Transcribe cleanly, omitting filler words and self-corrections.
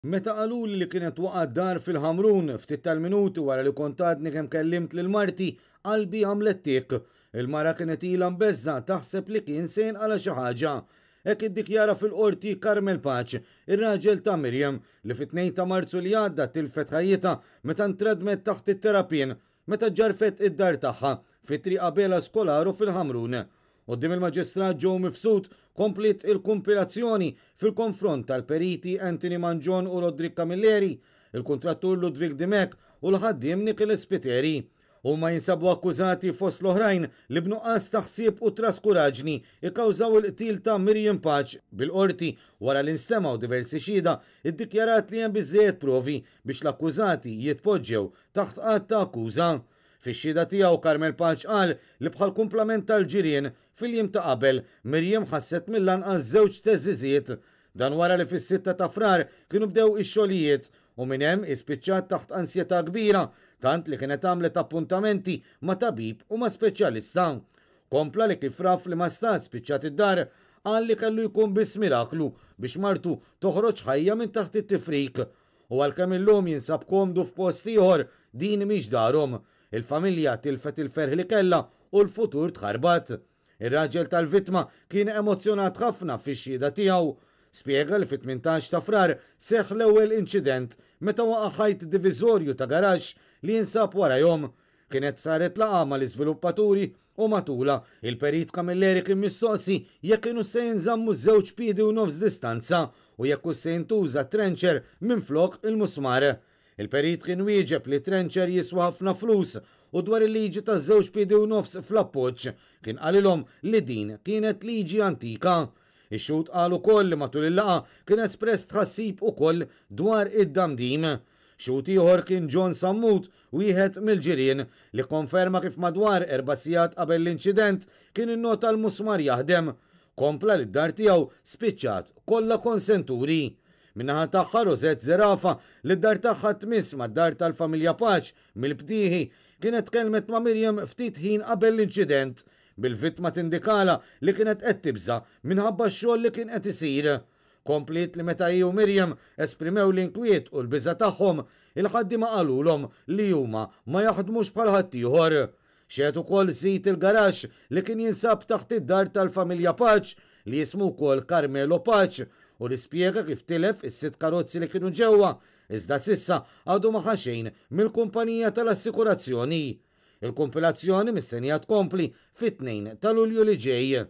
Meta qaluli li kienet waqgħet dar fil-Ħamrun, ftit tal-minuti wara li kont għadni kemm kellimt lil marti, qalbi għamlet tikk. Il-mara kienet ilha mbeżżgħa taħseb li kien se jinqala' xi ħaġa. Hekk iddikjara fil-Qorti Carmel Pace, ir-raġel ta' Miriam, li fit-2 ta' Marzu li għadda tilfet ħajjitha meta ntradmet taħt it-terrapien meta ġġarfet id-dar tagħha fi Triq Abela Scolaro fil-Ħamrun. Quddiem il-Maġistrat Joe Mifsud kompliet il-kumpilazzjoni fil-konfront tal-periti Anthony Mangion u Roderick Camilleri, il-kuntrattur Ludwig Dimech u l-ħaddiem Nicholas Spiteri. Huma jinsabu akkużati fost l-oħrajn li b'nuqqas ta' ħsieb u traskuraġni kkawżaw il-qtil ta' Miriam Pace bil-Qorti wara li nstemgħu diversi xhieda iddikjarat li hemm biżżejjed provi biex l-akkużati jitpoġġew taħt att ta' akkuża. Fix-xhieda tiegħu Carmel Pace qal li bħall-kumplament tal-ġirien, fil-jiem ta' qabel, Miriam ħasset mill-anqas żewġ theżżiżiet. Dan wara li fis-sitta ta' Frar kienu bdew ix-xogħlijiet u minn hemm hi spiċċat taħt ansjetà kbira tant li kienet għamlet appuntamenti ma' tabib u ma' speċjalista. Kompla li kif raf li ma stat spiċċat id-dar, qal li kellu jkun biss miraklu biex martu toħroġ ħajja minn taħt it-tifrik. U għalkemm illum jinsab komdu f'post ieħor, din mhix darhom. Il-familja tilfet il-ferħ li kellha u l-futur tħarbat. Ir-raġel tal-vittma kien emozzjonat ħafna fix-xhieda tiegħu. Spjega li fit-18 ta' Frar seħħ l-ewwel inċident meta waqa' ħajt diviżorju ta' garaxx li jinsab warajhom. Kienet saret laqgħa mal-iżviluppaturi u matulha, il-Perit Camilleri kien mistoqsi jekk kinux se jinżammu żewġ piedi u nofs distanza u jekk hux se jintuża trencher minflok il-musmar. Il-Perit kien wieġeb li trencher jiswa ħafna flus u dwar il-liġi taż-żewġ piedi u nofs fl-appoġġ, kien qalilhom li din kienet liġi antika. Ix-xhud qal ukoll li matul il-laqgħa kien espress tħassib ukoll dwar id-damdim. Xhud ieħor kien John Sammut, wieħed mill-ġirien, li kkonferma kif madwar erba' sigħat qabel l-inċident kien innota l-musmar jaħdem. Kompla li d-dar tiegħu spiċċat kollha konsenturi. Min-naħa tagħha Rosette Zerafa, li d-dar tagħha tmiss mad-dar tal-familja Pace mill-Btieħi, kienet tkellmet ma' Miriam ftit ħin qabel l-inċident, bil-vittma tindikalha li kienet qed tibża' minħabba x-xogħol li kien qed isir. Kompliet li meta hi u Miriam esprimew l-inkwiet u l-biża' tagħhom, il-ħaddiema qalulhom li huma ma jaħdmux bħal ħaddieħor. Xehed ukoll sid il-garaxx li kien jinsab taħt id-dar tal-familja Pace, li jismu wkoll Carmelo Pace, u li spjega kif tilef is-sitt karozzi li kienu ġewwa, iżda s'issa għadu ma ħa xejn mill-kumpanija tal-assikurazzjoni. Il-kumpilazzjoni mistennija tkompli fit-2 ta' Lulju li ġej.